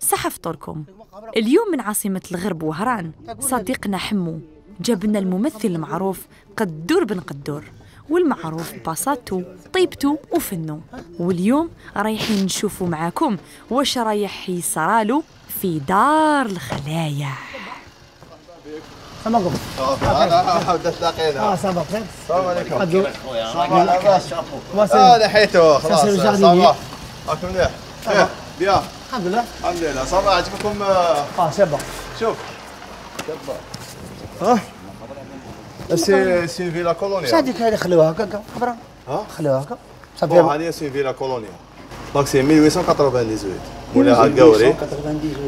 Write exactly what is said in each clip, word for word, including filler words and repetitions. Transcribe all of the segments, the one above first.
صحة فطوركم. اليوم من عاصمة الغرب وهران صديقنا حمو جاب لنا الممثل المعروف قدور بن قدور، والمعروف ببساطته طيبته وفنه. واليوم رايحين نشوفوا معاكم واش رايح يصرالو في دار الخلايا. سلام عليكم. انا حاولت تلاقينا. اه صباح الخير. السلام عليكم. قدور. صباح لاباس. اه لحيته خلاص. صباح. راكم مليح؟ ايه بيان. الحمد لله. الحمد لله. صباح عجبكم؟ اه شابه. شوف. شابه. ها؟ سي سي فيلا كولونيا. شاديك هذه خلوها هكا خبره. ها؟ خلوها هكا. صافي هذه سي فيلا كولونيا. دونك سي ألف وثمانمائة وثمانية وثمانين. مولاها القوري.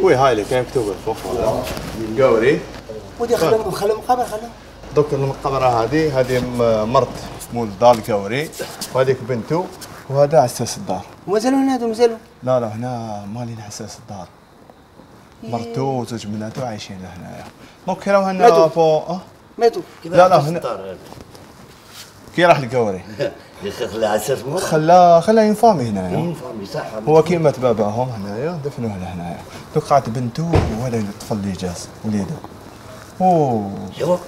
وي هاي اللي كاين مكتوب فوق هذا. القوري. ودي خلو خلو مقابر خلو. دوك المقبره هذه هذه مرت مول دار القوري وهذيك بنته وهذا عساس الدار. ومازالوا هنا هذو مازالوا؟ لا لا هنا مالين عساس الدار. مرتو وزوج بناتو عايشين هنايا. دونك كي راهو هنا فوق اه ماتوا. لا لا هنا كي راح القوري خلى عساس مور خلا خلا اون فامي هنايا. اون فامي صح. هو كي مات باباهم هنايا دفنوه لهنايا. دوك قعدت بنته وهذا الطفل اللي جاز وليده. اوه شوف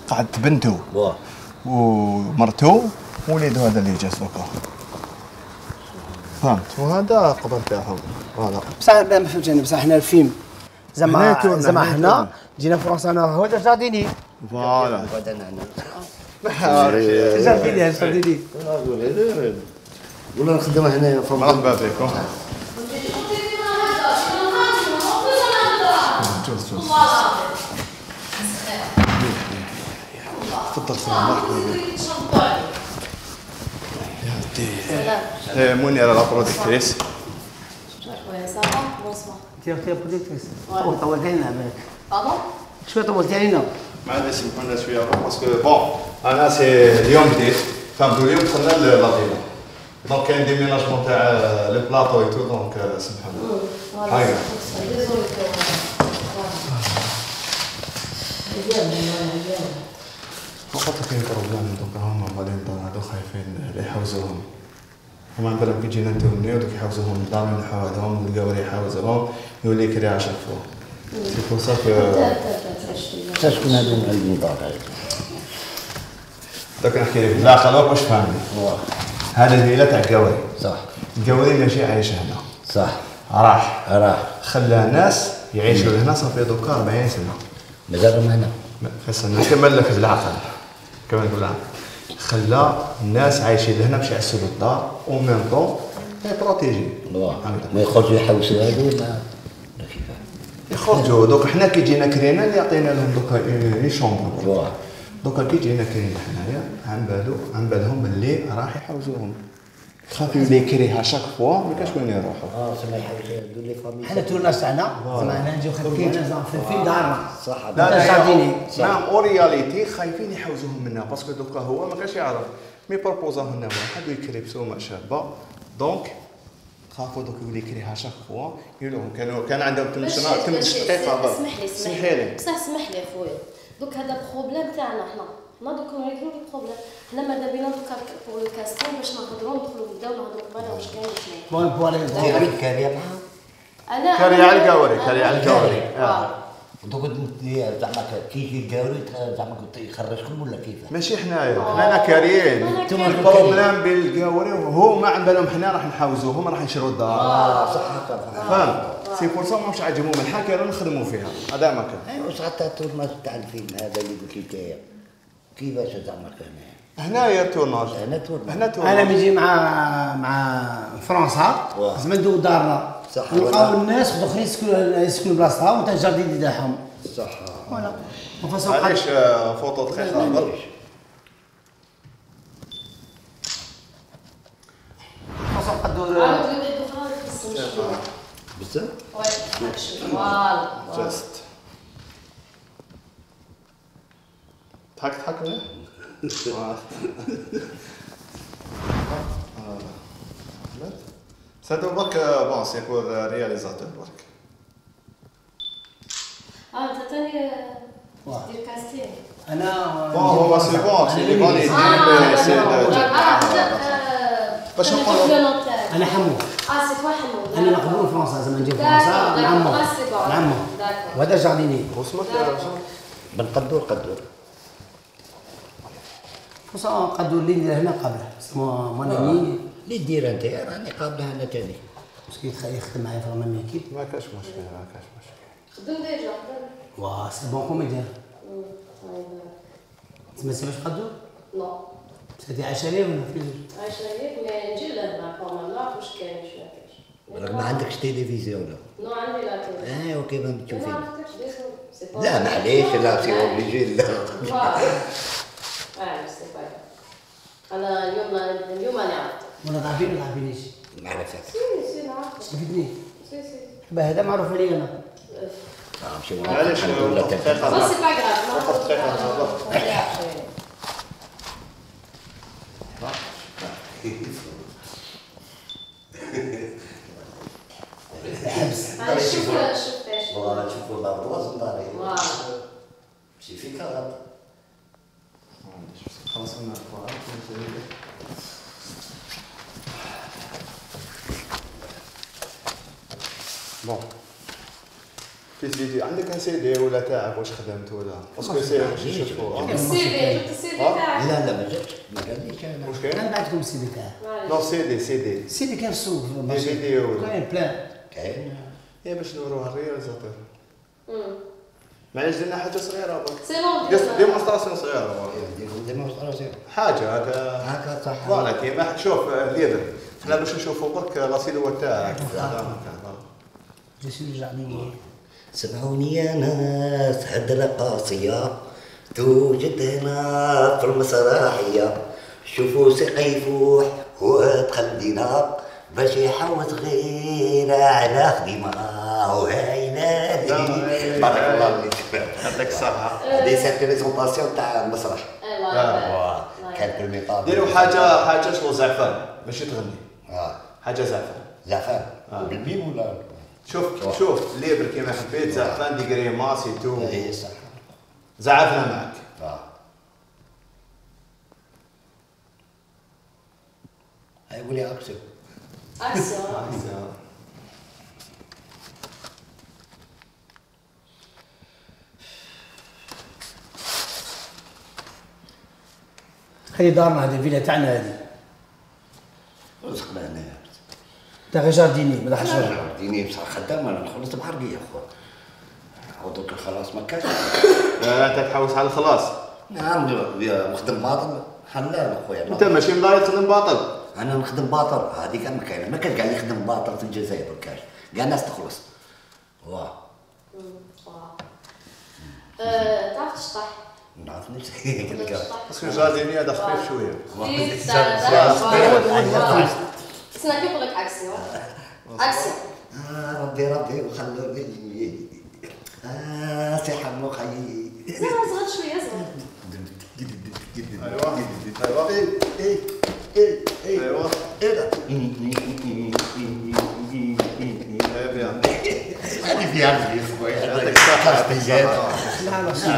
قعدت بنته واه ومرتو ووليدو هذا اللي جاز دوكا. فهمت. وهذا قبر تاعهم. فوالا بصح ما فهمتش انا بصح حنا الفيلم زعما زعما حنا جينا فرنسا انا هو جارديني. فوالا بدنا محاري جارديني جارديني ولا نخدم هنايا. مرحبا بكم. جوز جوز تفضل سلام. مرحبا بك يا ودي. منيرة لا برودكتريس. انت اختي برودكتريس. طولتي لنا بالك. بابا شويه طولتي علينا. معليش كنا شويه باسكو بون انا سي اليوم جديد فهمتوا. اليوم دخلنا للاديله دونك كاين ديميناجمون تاع لي بلاطو اي تو دونك سمحوا لنا. هاي فقط كاين بروبليم دوك هما مالين دار هادو خايفين يحوزوهم. هما عندنا كي جينا نتونيو دوك يحوزوهم الدار نحوزوهم القوري يحوزوهم يولي كري عشرة فوق. سي بور سا كو شكون هادو معلمين دار هاي؟ دوك نحكي لك لا خلوك واش فاهمني. هذا الفيلا تاع القوري. صح. القوري ماشي عايش هنا. صح. راح راح خلى ناس يعيشوا هنا صافي دوكا أربعين سنة. مازالهم هنا. خاصنا نكمل لك بالعقل. كمل بالعقل. خلى الناس عايشين لهنا باش يعسوا الدار او ميم طون يبروتيجي. ما يخرجوا يحوسوا هادو ولا كيفاه؟ يخرجوا دوك حنا كي جينا كرينا اللي عطينا لهم دوكا اي شومبر. دوكا كي جينا كرينا حنايا عن بالو عن بالهم باللي راح يحوزوهم. خاف يولي يكريها شاك فوا ما كاش وين يروحوا. اه سما يحوسوا هادو لي فامي. حنا تورناج تاعنا زعما هنا نجيو خايفين في دارنا. صح. لا لا جارديني. نعم اورياليتي خايفين يحوزوهم منا باسكو دوكا هو ما كاش يعرف مي بروبوزا لنا واحد ويكري بسومه شابه دونك خافوا دوك يولي يكريها شاك فوا يقولوا كانوا كان عندهم تمشنا تمش دقيقه برك. اسمح لي سمحي لي بصح اسمح لي خويا دوك هذا بروبليم تاعنا حنا حنا دوك نوريكم البروبليم حنا ماذا بينا دوكا بور لو كاستين باش نهضروا ندخلوا نبداو نهضروا قباله واش كاين واش كاين. بون بون كاري كاري معاهم. انا كاري على القوري كاري على القوري. دوك زعما كي يجي القوري زعما قلت يخرجكم ولا كيفاه؟ ماشي حنايا حنا كاريين. البروبليم بين القوري وهو ما عن بالهم حنا راح نحاوزوهم راح نشروا الدار. اه صح هكا. فهمت. سي بور سا ماهمش عاجبهم الحال كانوا نخدموا فيها هذا ما كان. ايوا واش حتى التورناج تاع الفيلم هذا اللي قلت لي نتايا كيفاش زعما كان؟ هنايا تورناج. هنا تورناج. هنا تورناج. انا نجي مع مع فرنسا زعما ندوق دارنا. صح. نلقاو الناس الاخرين يسكنوا يسكنوا بلاصتهم وتا الجاردين تاعهم. صح. فوالا. علاش فوطو تخي خاطر. فاصون قدور. عاود لي واحد اخرى في السمش. بزاف؟ وي فوالا. جاست. ضحك ضحك ولا؟ سادو برك بون سيكون رياليزاتور برك. اه انت ثاني دير كاستين. انا بون هو سي بون سي لي بون اه باش نقولوا انا حمو. اه اه سي توا حمو. انا مقبول فرنسا زعما نجي فرنسا نعمر نعمر وهذا جارديني. واسمك بن قدور قدور. فرنسا قدور اللي ندير هنا قبله اسمه مونامي. اللي دير انت راني قابله انا ثاني. مسكين يخدم معايا في رمانية كيف؟ ما كاش مشكل ما كاش مشكل. خدم ديجا خدم. واه سي بون كوميديان. تسمى سي باش قدور؟ نو. سيدي عايشة ليه ولا في؟ عايشة ليك مي نجي لهنا كومان نعرف واش كاين واش ما كاينش. ما عندكش تلفزيون ولا؟ نو عندي لا تيلي. اه وكيف ما تشوفين؟ ما عرفتش ديزول. لا معليش لا سي اوبليجي لا. اه سي با. انا اليوم اليوم انا عرفت. ولا ضعفين ولا ضعفينيش؟ ما عرفتش. سي سي نعرف. استفدني. سي سي. هذا معروف علي انا. اه ماشي معليش الحمد لله بس سي با غراف. فقط دقيقة. حبس. شوف شوف ايش. والله نشوفوا الابراج نضاري. واو. ماشي فيك غلط. خلاص انا بون في سيدي عندك ان سي دي ولا تاعك واش خدمت ولا باسكو سي باش يشوفوا السي في جبت السي في تاعك. لا لا ما جاتش ما قاليش انا. واش كاين؟ انا بعتكم السي دي تاعي. نو سي دي سي دي السي دي كان في السوق. دي فيديو كاين بلان. كاين. هي باش نوروها الرياليزاتور امم. معليش درنا حاجه صغيره برك سي بون. قصد ديمونستراسيون صغيره برك ديمونستراسيون. حاجه هكا هكا صح. فوالا كيما شوف الليدر حنا باش نشوفوا برك لا سيلوات تاعك. جيسي جارديني. سمعوني يا ناس هدرة قاسية توجد هنا في المسرحية. شوفوا سقي يفوح ودخل دينا باش يحوس غير على خدمة وهايلة. بارك الله فيك. يعطيك الصحة. هذه سير بريزونطاسيون تاع المسرح. ايوا. كان في الميطاب. ديروا حاجه حاجه شغل زعفان ماشي تغني اه حاجه زعفان. زعفان بالميم ولا؟ شوف شوف ليبر كيما حبيت زعفان ديكري ماسي تو اي صح. زعفنا معك. اه هاي قولي اكسب. اكسيون. هذه دارنا هذه الفيلا تاعنا هذه. رزقنا هنا. تاع غير جارديني ما دخلش. انا جارديني بصح خدام انا خلصت بحرقية اخويا. عاودوك الخلاص ما كاش. انت تحوس على الخلاص. نعم نخدم باطل حلال اخويا. انت ماشي مضايق تخدم باطل. انا نخدم باطل هذيك ما كاينه ما كان كاع يخدم باطل في الجزائر ما كاش كاع الناس تخلص. واه. تعرف تشطح؟ نعرف نفسي كنلقى. باسكو جارديني هذا خفيف شويه. سنا كيف لك عكسي عكسي. اه ربي ربي وخلوني. اه سي حمو خيي. زين صغر شويه صغر. ايوا ايوا ايه ايه ايه ايه ايوا ايه بيان هذه في عندي خويا. يعطيك الصحة. لا لا سي.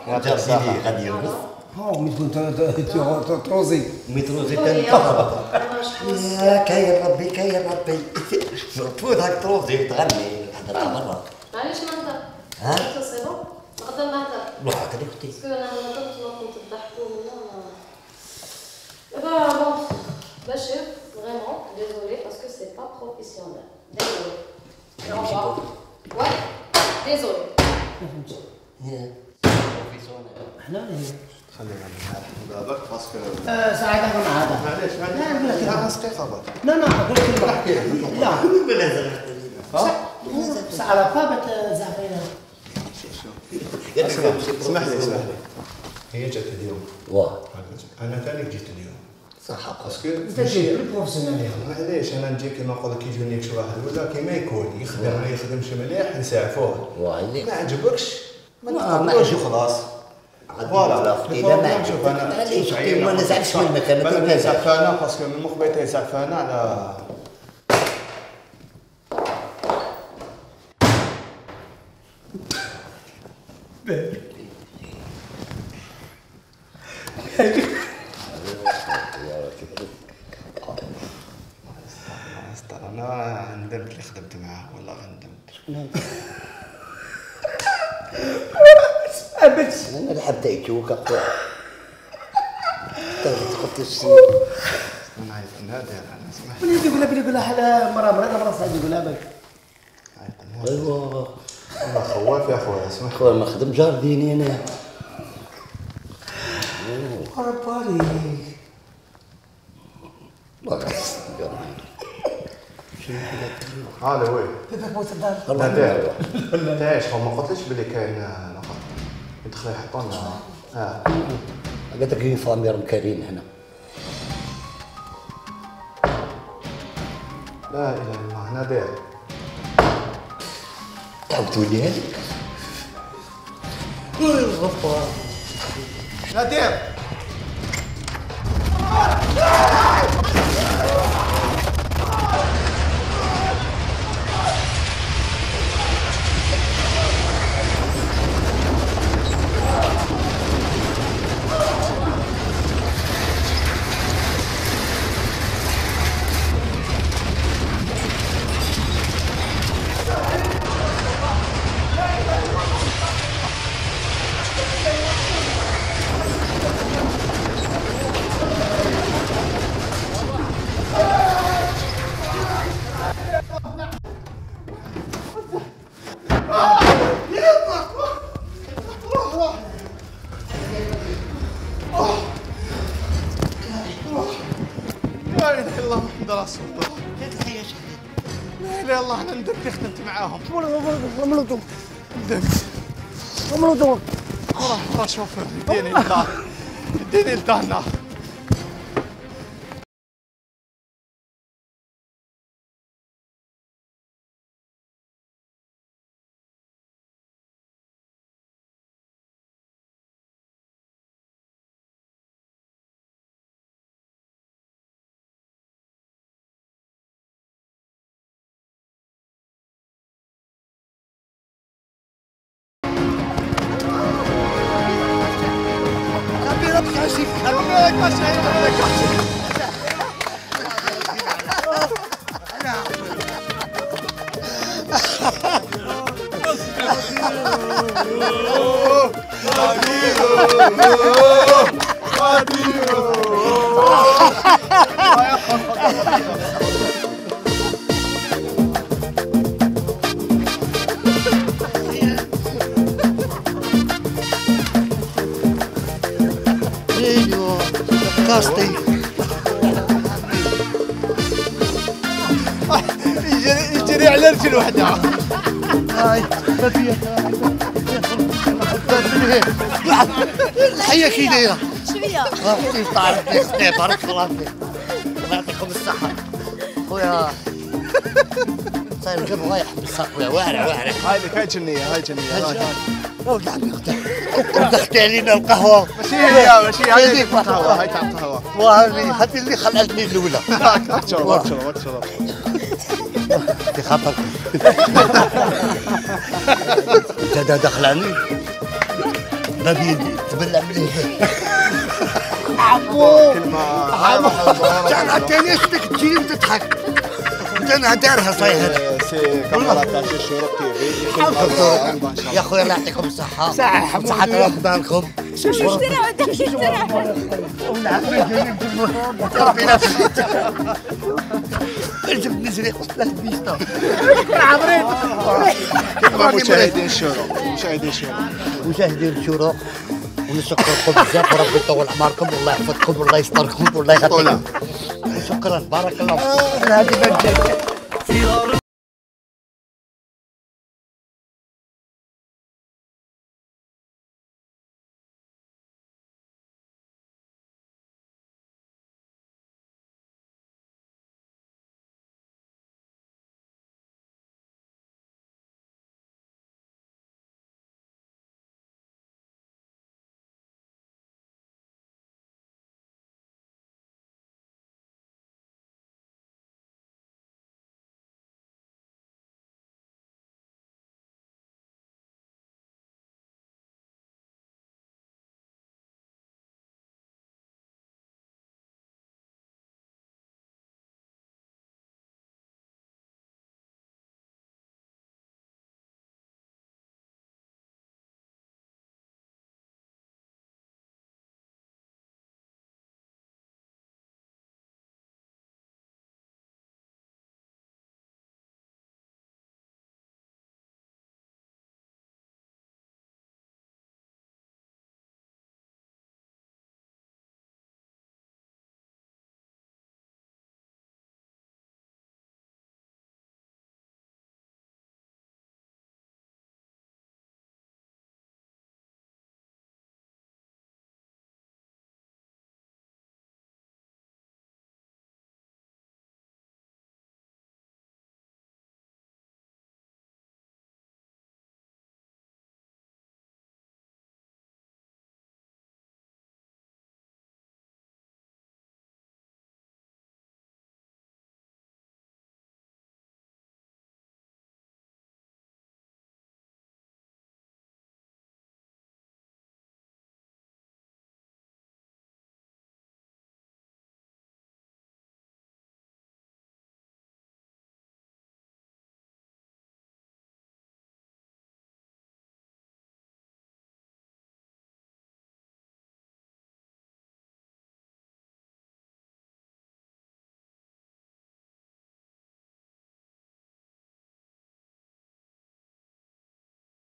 يعطيك الصحة. غادي يرقص. ها مي تكون تروزي. متروزي تنطلب. يا كاين ربي كاين ربي. تفوت هاك تروزي تغني حضرتها مرة. معليش نهضر. ها؟ سي بون؟ نقدر نهضر. روح هاك اختي. باسكو انا هضرت ما كنت تضحكوا ولا. دابا بون بشير فريمون ديزولي باسكو سي با بروفيسيونيل. ديزولي. Au revoir. Ouais, désolé. احنا هي. خلينا نحل هذاك باسكو ساعات انا مع هذا. معليش لا لا خمس دقائق برك. لا لا قلت لك نحكي. لا. ها؟ ساعة فابت زعفرينة. اسمح لي اسمح لي هي جات اليوم. واه انا ثاني جيت اليوم. صح باسكو انت جيت بروفيسيونيل. معليش انا نجي كيما نقول لك يجوني شي واحد ولا كيما يكون يخدم ما يخدمش مليح نسعفوه. واه ما عجبكش ما ما تقولش وخلاص. فوالا اذا ما عجبك معليش ما نزعلش منك انا انا زعفانه باسكو من مخبيتي زعفانه على قد معاه والله غندم. ابد انا لحبت ايتوك اخويا. تقول السي انا عايز نادر انا سمح. وليدي يقول لك يقول لها حلا مرة مرة مرة صعيد يقول لها بالك. ايوا والله خواف يا خويا اسمح. خويا ما خدم جار ديني انا. رباري هذا وين؟ نادر انت ايش هو ما قلتليش بلي كاين نقط يدخلوا يحطوا لنا اه قلت لك كاين فامير مكارين هنا. لا اله الا الله نادر تعاودتوا لي هذيك. الغفار نادر لا اله الا الله محمد رسول الله. لا اله الا الله انا ندمت خدمت معاهم. ملوطو ندمت ملوطو راه راه شوفر اديني للدار اديني لدارنا. قاصتي يجري على رجل وحده. هاي بديه الحيه كي دايره شويه غادي تعرف لي بارك الله فيك الله يعطيكم الصحه خويا. صاير القلب رايح بالصقويه واعره واعره. هاي لك هاي جنيه هاي جنيه هاي ولد عمي ودختي علينا القهوه. ماشي هي ماشي هاي تاع القهوه هاي تاع القهوه. وهذه هذه اللي خلعتني الاولى. اكثر اكثر اكثر في خطر. انت داخل عني ما بيدي تبلع مليح. عمو كلمه كان عتاني اسمك تجي وتضحك انت انا دارها صاير. سي كاميرا تاع الشروق تي في. يا خويا الله يعطيكم الصحة. صحة صحة رمضانكم. شو شو اشترى عندك اشترى ربي نفسك. جبت نزري ثلاث بيستا. عمري كلمه مشاهدين الشروق مشاهدين الشروق مشاهدين الشروق ونشكركم بزاف وربي يطول اعماركم والله يحفظكم والله يستركم والله يخليكم. شكرا بارك الله فيك. هذه